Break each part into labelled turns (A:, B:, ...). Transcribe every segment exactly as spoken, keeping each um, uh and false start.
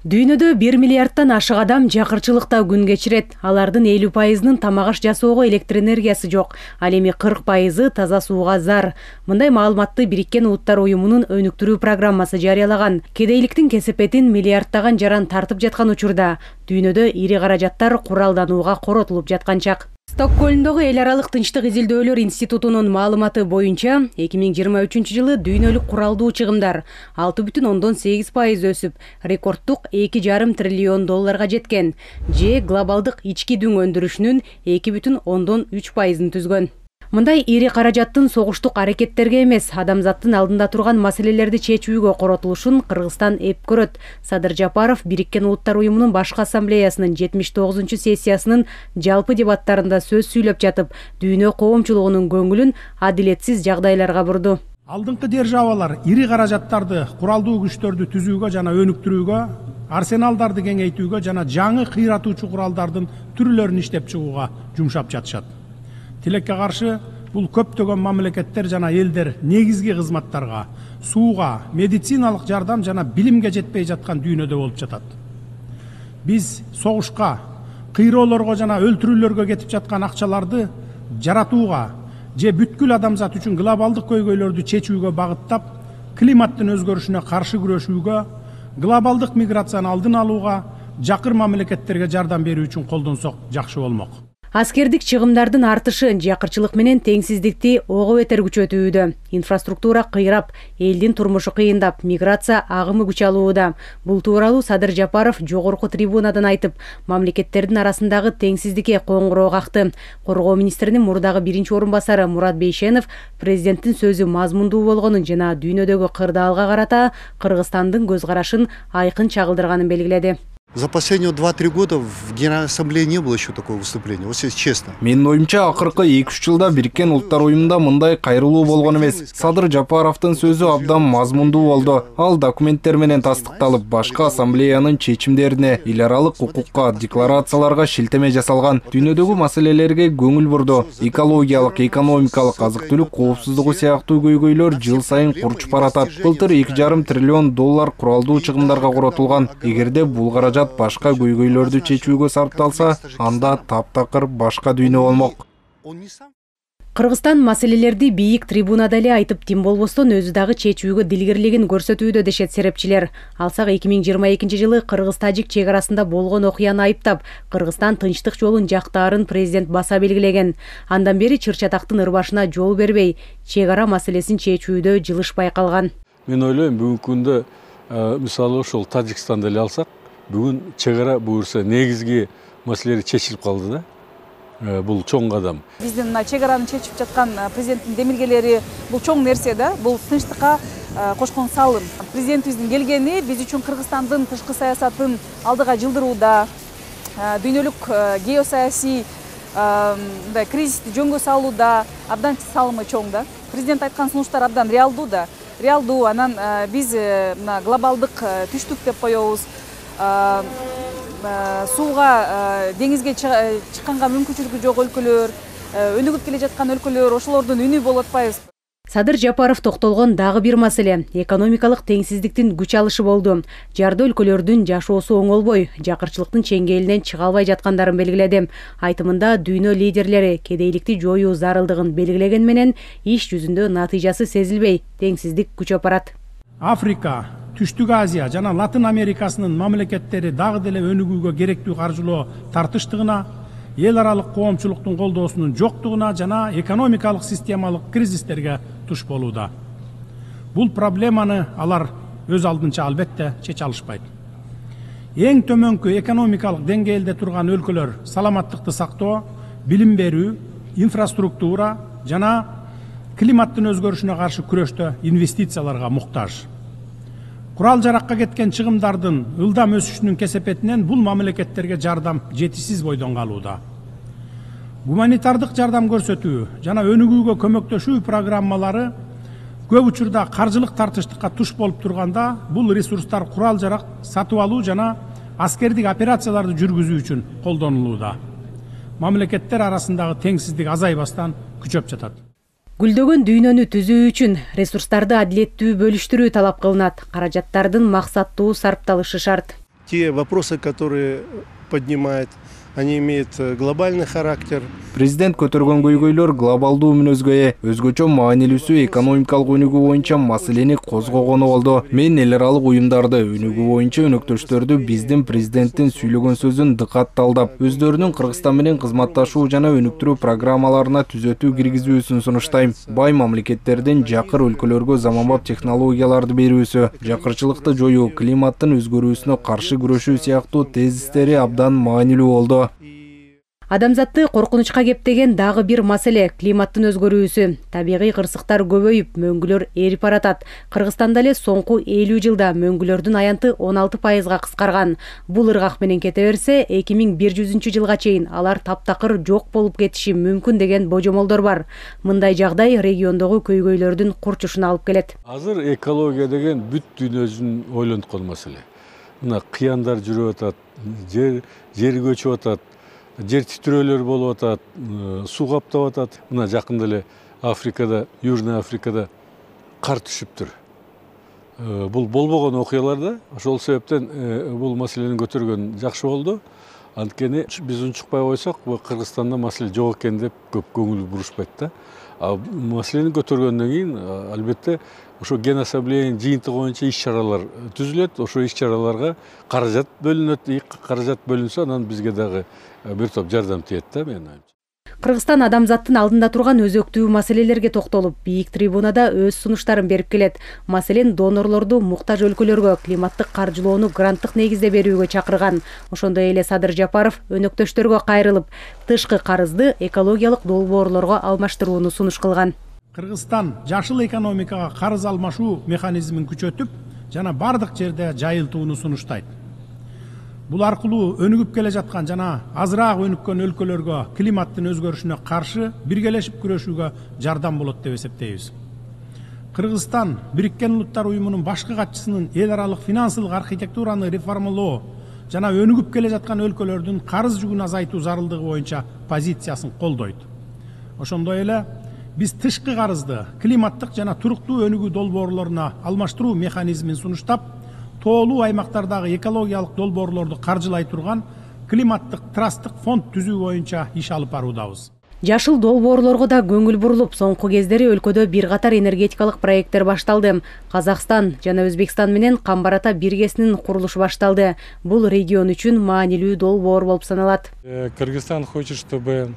A: Дүйнөдө бир миллиардтан ашык адам жакырчылыкта күн кечирет. Алардын элүү пайызынын тамак аш жасоого электр энергиясы жок. Ал эми кырк пайызы таза сууга зар. Мындай маалыматты Бириккен Улуттар уюмунун өнүктүрүү программасы жарыялаган. Кедейликтин кесепетин миллиарддаган жаран тартып жаткан учурда дүйнөдө ири каражаттар куралданууга коротулуп жаткан чак. Стокгольмдогу эл аралык тынчтык изилдөөлөр институтунун маалыматы боюнча эки миң жыйырма үчүнчү жылы дүйнөлүк куралдуу чыгымдар алты бүтүн ондон сегиз пайыз өсүп, рекордтук эки жарым триллион долларга жеткен, же глобалдык ички дүң өндүрүшүнүн эки бүтүн ондон үч пайызын түзгөн. Мындай ири каражаттын согуштук аракеттерге эмес, адамзаттын алдында турган маселелерди чечүүгө коротулушун Кыргызстан эп көрөт. Садыр Жапаров Бириккен Улуттар уюмунун башкы ассамблеясынын жетимиш тогузунчу сессиясынын жалпы дебаттарында сөз сүйлөп жатып, дүйнө коомчулугунун көңүлүн адилетсиз жагдайларга бурду.
B: Алдыңкы державалар ири каражаттарды куралдуу күчтөрдү түзүүгө жана өнүктүрүүгө, арсеналдарды кеңейтүүгө жана жаңы кыйратуучу куралдардын түрлөрүн иштеп чыгууга жумшап жатышат. Тилекке каршы бул көптөгөн мамлекеттер жана элдер негизги кызматтарга, сууга, медициналык жардам жана билимге жетпей жаткан дүйнөдө болуп жатат. Биз согушка, кыйроолорго жана өлтүрүүлөргө кетип жаткан акчаларды жаратууга же бүткүл адамзат үчүн глобалдык көйгөйлөрдү чечүүгө багыттап, климаттын өзгөрүшүнө каршы күрөшүүгө, глобалдык миграцияны алдын алууга, жакыр мамлекеттерге жардам берүү үчүн колдонсок жакшы болмок.
A: Аскердик чыгымдардын артышы жакырчылык менен теңсиздикти ого бетер күчөтүүдө. Инфраструктура кыйрап, элдин турмушу кыйындап, миграция агымы күч алууда. Бул тууралуу Садыр Жапаров жогорку трибунадан айтып, мамлекеттердин арасындагы теңсиздикке коңгуроо какты. Коргоо министринин мурдагы биринчи орун басары Мурат Бейшенов президенттин сөзү мазмундуу болгонун жана дүйнөдөгү кырдаалга карата Кыргызстандын көз карашын айкын чагылдырганын белгиледи.
C: За последние два-три года в Генеральной Ассамблее не было еще такого выступления, вот если честно.
D: Менин оюмча акыркы эки үч жылда Бириккен Улуттар уюмунда мындай кайрылуу болгон эмес. Садыр Жапаровдун сөзү абдан мазмундуу болду. Ал документтер менен тастыкталып, башка ассамблеянын чечимдерине, эл аралык укукка, декларацияларга шилтеме жасалган. Дүйнөдөгү маселелерге көңүл бурду. Экологиялык, экономикалык, азык-түлүк коопсуздугу сыяктуу көйгөйлөр жыл сайын курчуп баратат. Былтыр эки жарым триллион доллар куралдуу чыгымдарга коротулган. Эгерде бул каражат башка көйгөйлөрдү чечүүгө сарпталса, анда таптакыр башка дүйнө болмок.
A: Кыргызстан маселелерди бийик трибунада эле айтып, тим болбостон өзү дагы чечүүгө дилгирлигин көрсөтүүдө дешет серепчилер. Алсак эки миң жыйырма экинчи жылы Кыргыз-Тажик чек арасында болгон окуяны айыптап, Кыргызстан тынчтык жолун жактаарын президент баса белгилеген. Андан бери чыр-чатактын ырбашына жол бербей, чек ара маселесин чечүүдө жылыш байкалган.
E: Мен ойлойм, бүгүнкү күндө мисалы ошол Тажикстанды эле алсак, бүгүн чек ара буюрса негизги маселелер чечилип калды да. Бул чоң кадам.
F: Биздин мына чек араны чечип жаткан президенттин демилгелери бул чоң нерсе да. Бул тынчтыкка кошкон салым. Президентибиздин келгени биз үчүн Кыргызстандын тышкы саясатын алдыга жылдырууда, дүйнөлүк геосаясий мындай кризисти жөнгө салууда абдан салымы чоң да. Президент айткан сунуштар абдан реалдуу да. Реалдуу, анан биз мына глобалдык түштүк деп коебуз. Сууга, деңизге чыкканга мүмкүнчүлүгү жок өлкөлөр, өнүгүп келе жаткан өлкөлөр, ошолордун үнү болуп атпайбыз.
A: Садыр Жапаров токтолгон дагы бир маселе — экономикалык теңсиздиктин күч алышы болду. Жарды өлкөлөрдүн жашоосу оңолбой, жакырчылыктын чеңгелинен чыга албай жаткандарын белгиледи. Айтымында дүйнө лидерлери кедейликти жоюу зарылдыгын белгилеген менен иш жүзүндө натыйжасы сезилбей, теңсиздик күчөп барат.
B: Африка, Түштүк Азия жана Латын Америкасынын мамлекеттери дагы деле өнүгүүгө керектүү каржылоо тартыштыгына, эл аралык коомчулуктун колдоосунун жоктугуна жана экономикалык системалык кризистерге туш болууда. Бул проблеманы алар өз алдынча албетте чече алышпайт. Эң төмөнкү экономикалык деңгээлде турган өлкөлөр саламаттыкты сактоо, билим берүү, инфраструктура жана климаттын өзгөрүшүнө каршы күрөштө инвестицияларга муктаж. Курал жаракка кеткен чыгымдардын ылдам өсүшүнүн кесепетинен бул мамлекеттерге жардам жетишсиз бойдон калууда. Гуманитардык жардам көрсөтүү жана өнүгүүгө көмөктөшүү программалары көп учурда каржылык тартыштыкка туш болуп турганда, бул ресурстар курал жарак сатып алуу жана аскердик операцияларды жүргүзүү үчүн колдонулууда. Мамлекеттер арасындагы теңсиздик азайбастан күчөп жатат.
A: Гүлдөгөн дүйнөнү түзүү үчүн ресурстарды адилеттүү бөлүштүрүү талап кылынат. Каражаттардын максаттуу сарпталышы шарт.
G: Те вопросы, которые поднимает, они имеют глобальный характер.
D: Президент көтөргөн көйгөйлөр глобалдуу мүнөзгө ээ, өзгөчө маанилүүсү экономикалык өнүгүү боюнча маселени козгогону болду. Мен эл аралык уюмдарды өнүгүү боюнча өнөктөштөрдү биздин президенттин сүйлөгөн сөзүн дыкатталдап, өздөрүнүн Кыргызстан менен кызматташуу жана өнүктүрүү программаларына түзөтүү киргизүүсүн сунуштайм. Бай мамлекеттердин жакыр өлкөлөргө заманбап технологияларды берүүсү, жакырчылыкты жоюу, климаттын өзгөрүүсүнө каршы күрөшүү сыяктуу тезистери абдан маанилүү болду.
A: Адамзатты коркунучка кептеген дагы бир маселе — климаттын өзгөрүүсү. Табигый кырсыктар көбөйүп, мөңгүлөр эрип баратат. Кыргызстанда эле соңку элүү жылда мөңгүлөрдүн аянты он алты пайызга кыскарган. Бул ыргак менен кете берсе, эки миң бир жүзүнчү жылга чейин алар таптакыр жок болуп кетиши мүмкүн деген божомолдор бар. Мындай жагдай региондогу көйгөйлөрдүн курчушуна алып келет.
E: Азыр экология деген бүт дүйнөдүн ойлонткон маселе. Мына кыяндар жүрүп атат, жер жер көчүп атат. Жер титирөөлөр болуп атат, суу каптап атат. Мына жакында эле Африкада, Южный Африкада кар түшүптүр. Бул болбогон окуялар да. Ошол себептен бул маселени көтөргөн жакшы болду. Анткени биз унчукпай койсок, бул Кыргызстанда маселе жок экен деп көп көңүл бурушпайт да. А маселени көтөргөндөн кийин албетте ошо ген ассамблеянын жыйынтыгы боюнча иш-чаралар түзүлөт. Ошо иш-чараларга каражат бөлүнөт. Каражат бөлүнсө, анан бизге дагы бир топ жардам тиет да, менин оюмча.
A: Кыргызстан адамзаттын алдында турган өзөктүү маселелерге токтолуп, бийик трибунада өз сунуштарын берип келет. Маселен, донорлорду муктаж өлкөлөргө климаттык каржылоону гранттык негизде берүүгө чакырган. Ошондой эле Садыр Жапаров өнөктөштөргө кайрылып, тышкы карызды экологиялык долбоорлорго алмаштырууну сунуш кылган.
B: Кыргызстан жашыл экономикага карыз алмашуу механизмин күчөтүп, жана бардык жерде жайылтууну сунуштайт. Бул аркылуу өнүгүп келе жаткан жана азыраак өнүккөн өлкөлөргө климаттын өзгөрүшүнө каршы биргелешип күрөшүүгө жардам болот деп эсептейбиз. Кыргызстан Бириккен Улуттар уюмунун башкы катчысынын эл аралык финансылык архитектураны реформалоо жана өнүгүп келе жаткан өлкөлөрдүн карыз жүгүн азайтуу зарылдыгы боюнча позициясын колдойт. Ошондой эле биз тышкы карызды климаттык жана туруктуу өнүгүү долбоорлоруна алмаштыруу механизмин сунуштап, тоолуу аймактардагы экологиялык долбоорлорду каржылай турган климаттык трасттык фонд түзүү боюнча иш алып баруудабыз.
A: Жашыл долбоорлорго да көңүл бурулуп, соңку кездери өлкөдө бир катар энергетикалык проекттер башталды. Казакстан жана Өзбекстан менен Камбар Ата биргесинин курулушу башталды. Бул регион үчүн маанилүү долбоор болуп саналат.
H: Кыргызстан хочет, чтобы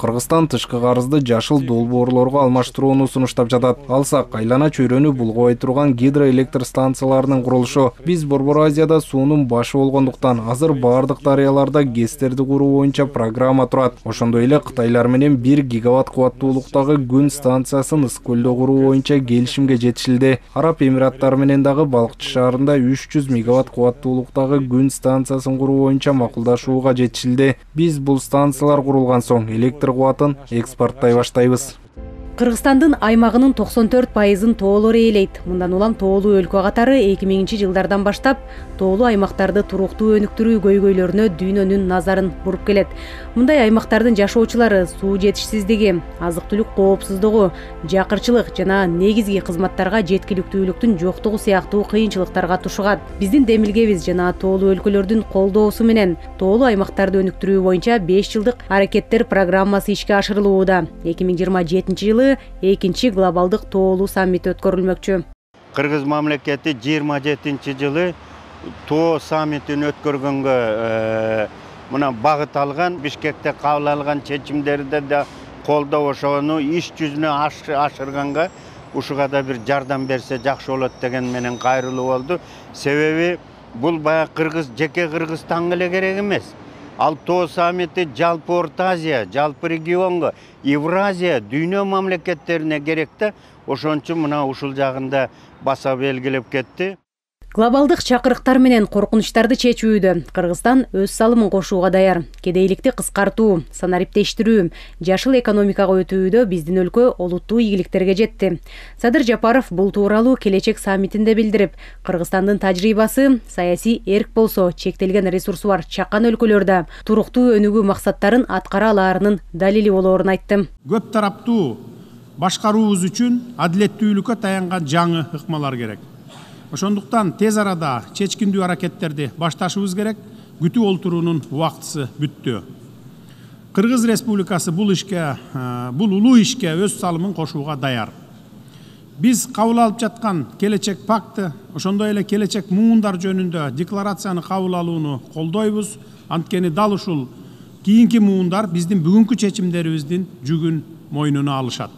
D: Кыргызстан тышкы карызды жашыл долбоорлорго алмаштырууну сунуштап жатат. Алсак, айлана чөйрөнү булгабай турган гидроэлектр станцияларынын курулушу. Биз Борбор Азияда суунун башы болгондуктан азыр бардык дарыяларда ГЭСтерди куруу боюнча программа турат. Ошондой эле Кытайлар менен бир гигаватт кубаттуулуктагы күн станциясын Ысык көлдө куруу боюнча келишимге жетишилди. Араб Эмираттары менен дагы Балкчы шаарында үч жүз мегаватт кубаттуулуктагы күн станциясын куруу боюнча макулдашууга жетишилди. Биз бул станциялар курулган соң электр кубатын экспорттой баштайбыз.
A: Кыргызстандын аймагынын токсон төрт пайызын тоолор ээлейт. Мындан улам тоолуу өлкө катары эки миңинчи жылдардан баштап тоолуу аймактарды туруктуу өнүктүрүү көйгөйлөрүнө дүйнөнүн назарын буруп келет. Мындай аймактардын жашоочулары суу жетишсиздиги, азык-түлүк коопсуздугу, жакырчылык жана негизги кызматтарга жеткиликтүүлүктүн жоктугу сыяктуу кыйынчылыктарга тушугат. Биздин демилгебиз жана тоолуу өлкөлөрдүн колдоосу менен тоолуу аймактарды өнүктүрүү боюнча беш жылдык аракеттер программасы ишке ашырылууда. эки миң жыйырма жетинчи жылы экинчи глобалдык тоолуу саммит өткөрүлмөкчү.
I: Кыргыз мамлекети жыйырма жетинчи жылы тоо саммитин өткөргөнгө мына багыт алган, Бишкекте кабыл алган чечимдерди да колдоп, ошону иш жүзүнө ашырганга ушуга да бир жардам берсе жакшы болот деген менен кайрылуу болду. Себеби бул баягы Кыргыз жеке Кыргызстанга эле керек эмес. Ал тоо саммити жалпы Орто Азия, жалпы регионго, Евразия, дүйнө мамлекеттерине керек да. Ошон үчүн мына ушул жагында баса белгилеп кетти.
A: Глобалдык чакырыктар менен коркунучтарды чечүүдө Кыргызстан өз салымын кошууга даяр. Кедейликти кыскартуу, санариптештирүү, жашыл экономикага өтүүдө биздин өлкө олуттуу ийгиликтерге жетти. Садыр Жапаров бул тууралуу келечек саммитинде билдирип, Кыргызстандын тажрыйбасы саясий эрк болсо, чектелген ресурсу бар чакан өлкөлөрдө туруктуу өнүгүү максаттарын аткара алаарынын далили болоорун айтты.
B: Көп тараптуу башкаруубуз үчүн адилеттүүлүккө таянган жаңы ыкмалар керек. Ошондуктан тез арада чечкиндүү аракеттерди башташыбыз керек. Күтүп олтуруунун убактысы бүттү. Кыргыз Республикасы бул ишке, бул улуу ишке өз салымын кошууга даяр. Биз кабыл алып жаткан келечек пакты, ошондой эле келечек муундар жөнүндө декларацияны кабыл алууну колдойбуз. Анткени дал ушул кийинки муундар биздин бүгүнкү чечимдерибиздин жүгүн мойнуна алышат.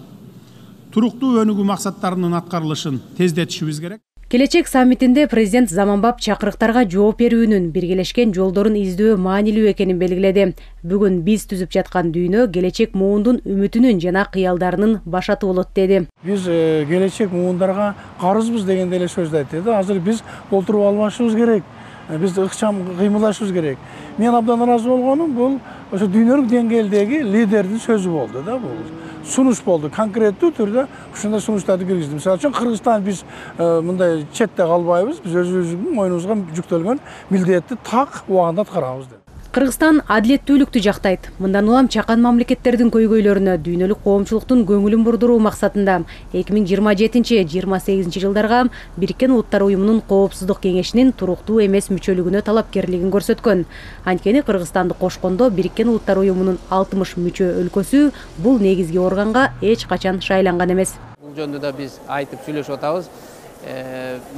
B: Туруктуу өнүгүү максаттарынын аткарылышын тездетишибиз керек.
A: Келечек саммитинде президент заманбап чакырыктарга жооп берүүнүн, биргелешкен жолдорун издөө маанилүү экенин белгиледи. Бүгүн биз түзүп жаткан дүйнө келечек муундун үмүтүнүн жана кыялдарынын башаты болот деди.
J: Биз келечек муундарга карызбыз дегенде эле сөздү айтты. Азыр биз толтуруп алмашыбыз керек. Биз ыкчам кыймылдашыбыз керек. Мен абдан ыраазы болгонум бул ошо дүйнөлүк деңгээлдеги лидердин сөзү болду да, бул сунуш болду. Конкреттүү түрдө ушундай сунуштарды киргизди. Мисалы үчүн Кыргызстан биз мындай четте калбайбыз. Биз өзүбүздүн мойнубузга жүктөлгөн милдетти так убагында аткарабыз деп.
A: Кыргызстан адилеттүүлүктү жактайт. Мындан улам чакан мамлекеттердин көйгөйлөрүнө дүйнөлүк коомчулуктун көңүлүн бурдуруу максатында эки миң жыйырма жетинчи — жыйырма сегизинчи жылдарга Бириккен Улуттар Уюмунун Коопсуздук Кеңешинин туруктуу эмес мүчөлүгүнө талапкерлигин көрсөткөн. Анткени Кыргызстанды кошкондо Бириккен Улуттар Уюмунун алтымыш мүчө өлкөсү бул негизги органга эч качан шайланган эмес.
K: Бул жөнүндө да биз айтып сүйлөшүп атабыз.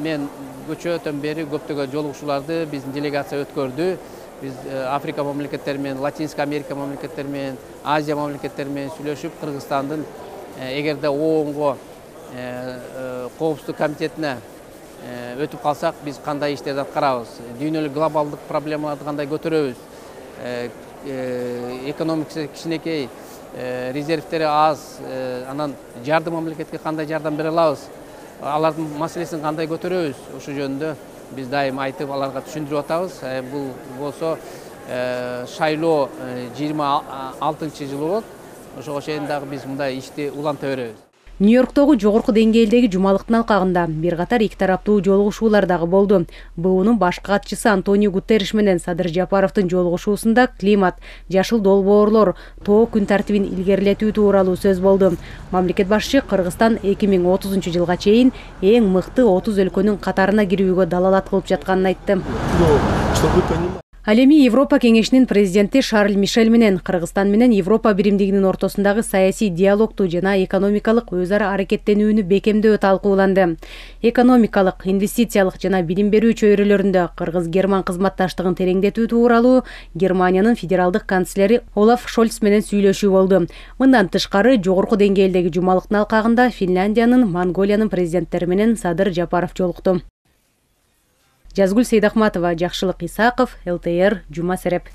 K: Мен көчөдөн бери көптөгөн жолугушууларды биздин делегация өткөрдү. Biz Afrika mamleketteri менен, Латинска Америка mamleketteri менен, Азия mamleketteri менен сүйлөшүп, Кыргызстандын эгерде ООНго коопсуздук комитетине өтүп калсак, биз кандай иштерди аткарабыз, дүйнөлүк глобалдык проблемаларды кандай көтөрөбүз, экономикасы кичинекей, резервтери аз, анан жардым мамлекетке кандай жардам бере алабыз, алардын маселесин кандай көтөрөбүз, ошол жөнүндө biz daim айтып аларга түшүндүрүп атабыз. Бул болсо шайлоо жыйырма алтынчы жылы болот. Ошого чейин дагы биз мындай ишти уланта беребиз.
A: Нью-Йорктогу жогорку деңгээлдеги жумалыктын алкагында бир катар эки тараптуу жолугушуулар дагы болду. БУнун башкы катчысы Антонио Гутерриш менен Садыр Жапаровдун жолугушуусунда климат, жашыл долбоорлор, тоо күн тартибин илгерилетүү тууралуу сөз болду. Мамлекет башчы Кыргызстан эки миң отузунчу жылга чейин эң мыкты отуз өлкөнүн катарына кирүүгө далалат кылып жатканын айтты. Ал эми Европа Кеңешинин президенти Шарль Мишель менен Кыргызстан менен Европа биримдигинин ортосундагы саясий диалогту жана экономикалык өз ара аракеттенүүнү бекемдөө талкууланды. Экономикалык, инвестициялык жана билим берүү чөйрөлөрүндө Кыргыз-Герман кызматташтыгын тереңдетүү тууралуу Германиянын федералдык канцлери Олаф Шольц менен сүйлөшүү болду. Мындан тышкары жогорку деңгээлдеги жумалыктын алкагында Финляндиянын, Монголиянын президенттери менен Садыр Жапаров жолукту. Жазгүл Сейдахматова, Жакшылык Исаков, эл тэ эр, Жума Сереп.